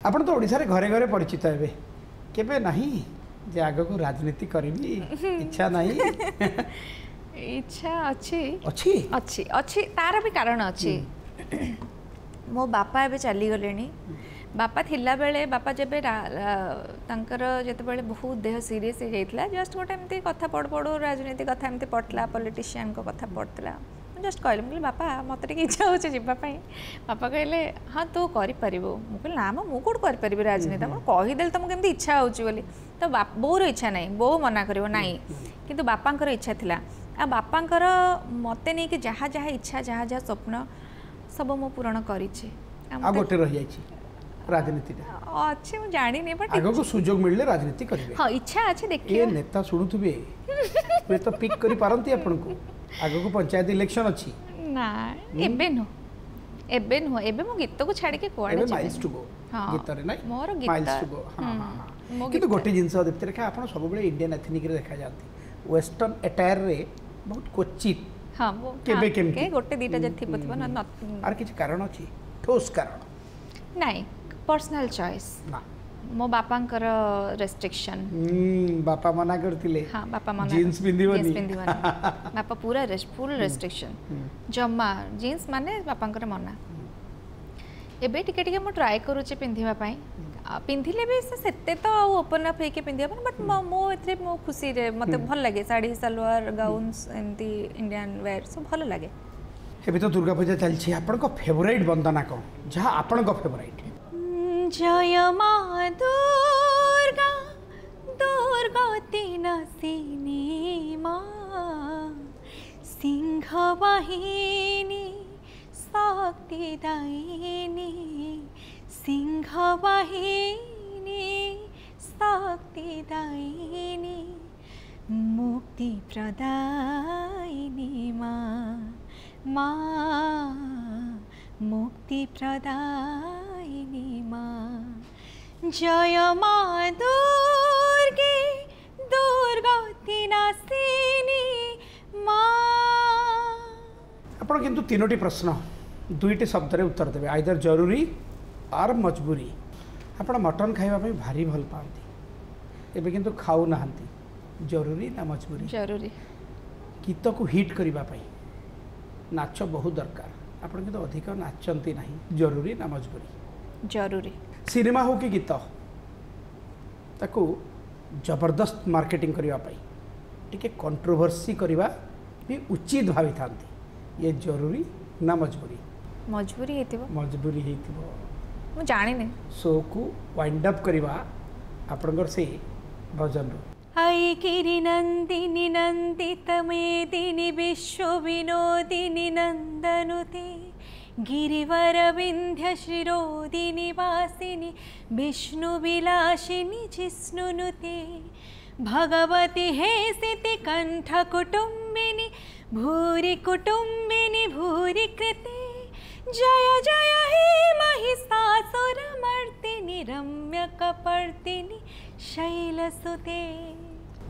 ଆପଣ ତ ଓଡ଼ିଶାରେ ଘରେ ଘରେ ପରିଚିତ ହେବେ, କେବେ ନାହିଁ ଯେ ଆଗକୁ ରାଜନୀତି କରିବି ଇଚ୍ଛା ନାହିଁ? ଇଚ୍ଛା ଅଛି। ଅଛି? ଅଛି, ଅଛି, ତାର ବି କାରଣ ଅଛି। ମୋ ବାପା ଏବେ ଚାଲିଗଲେଣି। ବାପା ଥିଲାବେଳେ, ବାପା ଯେବେ ତାଙ୍କର ଯେତେବେଳେ ବହୁତ ଦେହ ସିରିୟସ୍ ହେଇଯାଇଥିଲା, ଜଷ୍ଟ ଗୋଟେ ଏମିତି କଥା ପଢ଼ୁ ପଢ଼ୁ ରାଜନୀତି କଥା ଏମିତି ପଡ଼ିଥିଲା, ପଲିଟିସିଆନଙ୍କ କଥା ପଡ଼ିଥିଲା। ମୁଁ ଜଷ୍ଟ କହିଲି, ମୁଁ କହିଲି ବାପା ମୋତେ ଟିକେ ଇଚ୍ଛା ହେଉଛି ଯିବା ପାଇଁ। ବାପା କହିଲେ ହଁ ତୁ କରିପାରିବୁ। ମୁଁ କହିଲି ନା ମ, ମୁଁ କେଉଁଠୁ କରିପାରିବି ରାଜନୀତି, ମୁଁ କହିଦେଲି ତମକୁ କେମିତି ଇଚ୍ଛା ହେଉଛି ବୋଲି। ତ ବୋଉର ଇଚ୍ଛା ନାହିଁ, ବୋଉ ମନା କରିବ ନାହିଁ, କିନ୍ତୁ ବାପାଙ୍କର ଇଚ୍ଛା ଥିଲା। ଆଉ ବାପାଙ୍କର ମୋତେ ନେଇକି ଯାହା ଯାହା ଇଚ୍ଛା, ଯାହା ଯାହା ସ୍ୱପ୍ନ ସବୁ ମୁଁ ପୂରଣ କରିଛି। ଆଉ ଗୋଟେ ରହିଯାଇଛି ରାଜନୀତିଟା ଅଛି, ମୁଁ ଜାଣିନି, ବଟ୍ ଆଗକୁ ସୁଯୋଗ ମିଳିଲେ ରାଜନୀତି କରିବେ? ହଁ, ଇଚ୍ଛା ଅଛି, ଦେଖିବା। ଏ ନେତା ଶୁଣୁଥିବେ, ହୁଏତ ପିକ୍ କରିପାରନ୍ତି ଆପଣଙ୍କୁ। ଆଗକୁ ପଞ୍ଚାୟତ ଇଲେକ୍ସନ ଅଛି। ନା, ଏବେ ନୁହଁ, ଏବେ ନୁହଁ, ଏବେ ମୁଁ ଗୀତକୁ ଛାଡ଼ିକି କୁଆଡ଼େ ଯିବି? ମାଇଲ୍ସ ଟୁ ଗୋ ଗୀତରେ ନାଇଁ ମୋର ଗୀତ। ହଁ, କିନ୍ତୁ ଗୋଟେ ଜିନିଷ ଦୀପ୍ତିରେଖା, ଆପଣ ସବୁବେଳେ ଇଣ୍ଡିଆନ୍ ଏଥନିକରେ ଦେଖାଯାଆନ୍ତି, ୱେଷ୍ଟର୍ଣ୍ଣ ଆଟାୟାରରେ ବହୁତ କ୍ୱଚିତ। ହଁ, କେବେ କେମିତି ଗୋଟେ ଦିଟା ଯଦି ଥିବ ଥିବ। ଆର କିଛି କାରଣ ଅଛି, ଠୋସ୍ କାରଣ? ନାଇଁ, ପର୍ସନାଲ ଚଏସ୍ ନା। ମୋ ବାପାଙ୍କର ରେଷ୍ଟ୍ରିକ୍ସନ୍। ବାପା ମନା କରିଥିଲେ? ହଁ, ବାପା ମନା, ଜିନ୍ସ ପିନ୍ଧିବନି। ପିନ୍ଧିବନି, ବାପା ପୁରା ଫୁଲ୍ ରେଷ୍ଟ୍ରିକ୍ସନ୍, ଜମା ଜିନ୍ସ ମାନେ ବାପାଙ୍କର ମନା। ଏବେ ଟିକେ ଟିକେ ମୁଁ ଟ୍ରାଏ କରୁଛି ପିନ୍ଧିବା ପାଇଁ। ପିନ୍ଧିଲେ ବି ସେ ସେତେ ତ ଆଉ ଓପନ୍ ଅପ୍ ହେଇକି ପିନ୍ଧି ହେବନି, ବଟ୍ ମୁଁ ଏଥିରେ ମୁଁ ଖୁସିରେ, ମୋତେ ଭଲ ଲାଗେ ଶାଢ଼ୀ, ସାଲୱାର, ଗାଉନ୍ସ, ଏମିତି ଇଣ୍ଡିଆନ୍ ୱେର୍ ସବୁ ଭଲ ଲାଗେ। ଏବେ ତ ଦୁର୍ଗା ପୂଜା ଚାଲିଛି, ଆପଣଙ୍କ ଫେଭରାଇଟ୍ ବନ୍ଦନା କ'ଣ, ଯାହା ଆପଣଙ୍କ ଫେଭରାଇଟ୍? ଜୟ ମା ଦୁର୍ଗା ଦୁର୍ଗତି ନାଶିନୀ ମା, ସିଂହ ବାହିନୀ ଶକ୍ତିଦାୟିନୀ, ସିଂହ ବାହିନୀ ଶକ୍ତିଦାୟିନୀ, ମୁକ୍ତି ପ୍ରଦାୟିନୀ ମା, ମା ମୁକ୍ତି ପ୍ରଦାୟିନୀ ମା। ଜୟ ମା ଦୁର୍ଗେ ଦୁର୍ଗତି ନାଶିନୀ ମା। ଆପଣ କିନ୍ତୁ ତିନୋଟି ପ୍ରଶ୍ନ ଦୁଇଟି ଶବ୍ଦରେ ଉତ୍ତର ଦେବେ, ଆଇଦର ଜରୁରୀ ଆର୍ ମଜବୁରୀ। ଆପଣ ମଟନ୍ ଖାଇବା ପାଇଁ ଭାରି ଭଲ ପାଆନ୍ତି, ଏବେ କିନ୍ତୁ ଖାଉନାହାନ୍ତି, ଜରୁରୀ ନା ମଜବୁରୀ? ଜରୁରୀ। ଗୀତକୁ ହିଟ୍ କରିବା ପାଇଁ ନାଚ ବହୁତ ଦରକାର, ଆପଣ କିନ୍ତୁ ଅଧିକ ନାଚନ୍ତି ନାହିଁ, ଜରୁରୀ ନା ମଜବୁରୀ? ଜରୁରୀ। ସିନେମା ହଉ କି ଗୀତ, ତାକୁ ଜବରଦସ୍ତ ମାର୍କେଟିଂ କରିବା ପାଇଁ ଟିକେ କଣ୍ଟ୍ରୋଭର୍ସି କରିବା ବି ଉଚିତ ଭାବିଥାନ୍ତି, ଇଏ ଜରୁରୀ ନା ମଜବୁରୀ? ମଜବୁରୀ ହେଇଥିବ। ମଜବୁରୀ ହେଇଥିବ, ମୁଁ ଜାଣିନି। ଶୋକୁ ୱାଇଣ୍ଡ ଅପ୍ କରିବା ଆପଣଙ୍କର ସେଇ ଭଜନରୁ। I ଗିରିନନ୍ଦିନି ନନ୍ଦିତ ମେଦିନି ବିଶ୍ୱ ବିନୋଦିନି ନନ୍ଦನುତେ, गिरिवर विंध्य शिरोदिनि वासिनि विष्णु विलासिनि जिष्णुनुते, भगवती हे सिति कंठ कुटुंबिनि भूरि कुटुंबिनि भूरि कृते, जय जय हे महिषासुरमर्दिनि रम्य कपर्दिनि शैलसुते।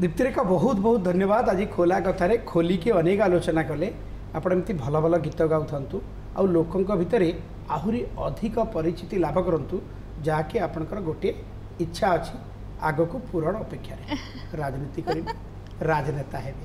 दीप्तिरेखा बहुत बहुत धन्यवाद। आज खोला कथारे खोलिକି ଅନେକ ଆଲୋଚନା କଲେ। ଆପଣ ଏମିତି ଭଲ ଭଲ ଗୀତ ଗାଉଥାନ୍ତୁ ଆଉ ଲୋକଙ୍କ ଭିତରେ ଆହୁରି ଅଧିକ ପରିଚିତି ଲାଭ କରନ୍ତୁ, ଯାହାକି ଆପଣଙ୍କର ଗୋଟିଏ ଇଚ୍ଛା ଅଛି ଆଗକୁ ପୂରଣ ଅପେକ୍ଷାରେ। ରାଜନୀତି କରିବେ, ରାଜନେତା ହେବେ।